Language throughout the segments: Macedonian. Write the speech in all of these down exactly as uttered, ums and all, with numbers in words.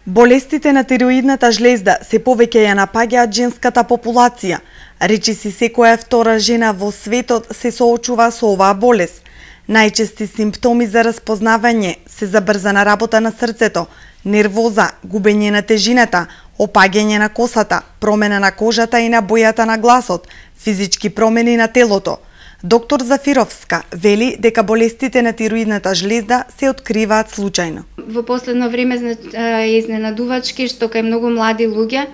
Болестите на тироидната жлезда се повеќе ја напаѓаат женската популација. Речиси секоја втора жена во светот се соочува со оваа болест. Најчести симптоми за распознавање се забрзана работа на срцето, нервоза, губење на тежината, опаѓање на косата, промена на кожата и на бојата на гласот, физички промени на телото. Доктор Зафировска вели дека болестите на тироидната жлезда се откриваат случајно. Во последно време е изненадувачки што кај многу млади луѓе,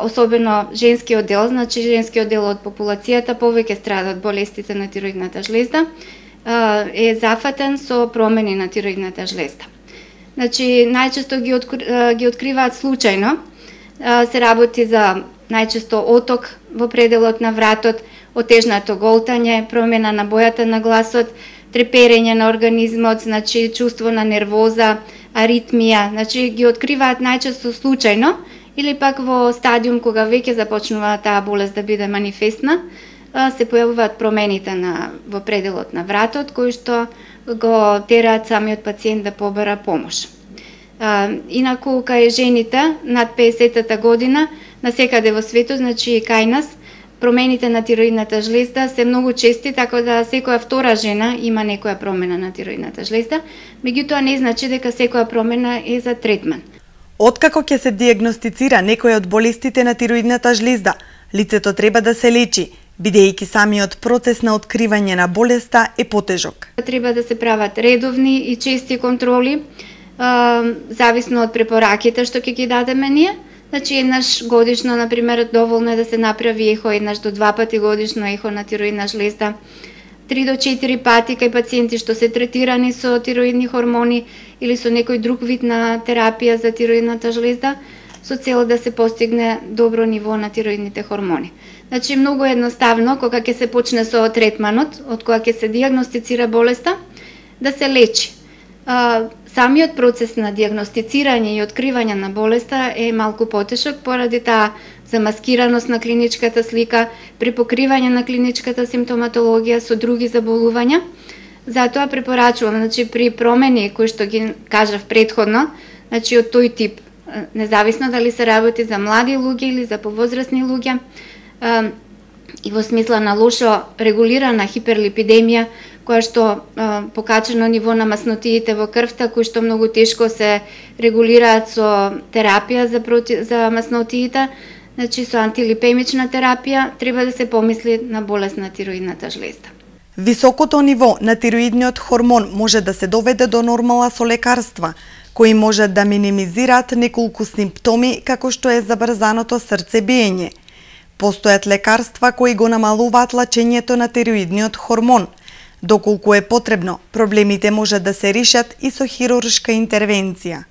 особено женскиот дел, значи женскиот дел од популацијата повеќе страда од болестите на тироидната жлезда, е зафатен со промени на тироидната жлезда. Значи најчесто ги, откри, ги откриваат случајно, се работи за најчесто оток во пределот на вратот, отежнато голтање, промена на бојата на гласот, треперење на организмот, значи чувство на нервоза, аритмија, значи ги откриваат најчесто случајно или пак во стадиум кога веќе започнува таа болест да биде манифестна, се појавуваат промените на во пределот на вратот кои што го тераат самиот пациент да побара помош. Инаку кај жените над песетата година насекаде во светот, значи и кај нас, промените на тироидната жлезда се многу чести, така да секоја втора жена има некоја промена на тироидната жлезда, меѓутоа не значи дека секоја промена е за третман. Откако ќе се диагностицира некоја од болестите на тироидната жлезда, лицето треба да се лечи, бидејќи самиот процес на откривање на болеста е потежок. Треба да се прават редовни и чести контроли, зависно од препораките што ќе ги дадеме ние. Значи еднаш годишно, например, доволно е да се направи ехо, еднаш до два пати годишно ехо на тироидна жлезда, три до четири пати кај пациенти што се третирани со тироидни хормони или со некој друг вид на терапија за тироидната жлезда, со цел да се постигне добро ниво на тироидните хормони. Значи многу едноставно кога ќе се почне со третманот, од кога ќе се диагностицира болеста, да се лечи. Самиот процес на диагностицирање и откривање на болеста е малку потешок поради таа замаскираност на клиничката слика, при покривање на клиничката симптоматологија со други заболувања. Затоа препорачувам, значи при промени кои што ги кажав претходно, значи од тој тип, независно дали се работи за млади луѓе или за повозрасни луѓе, и во смисла на лошо регулирана хиперлипидемија, која што а, покачено ниво на маснотиите во крвта, кои што многу тешко се регулираат со терапија за, проти, за маснотиите, значи со антилипемична терапија, треба да се помисли на болест на тироидната жлезда. Високото ниво на тироидниот хормон може да се доведе до нормала со лекарства, кои може да минимизираат неколку симптоми како што е забрзаното срцебиење. Постојат лекарства кои го намалуваат лачењето на тироидниот хормон. Доколку е потребно, проблемите може да се решат и со хируршка интервенција.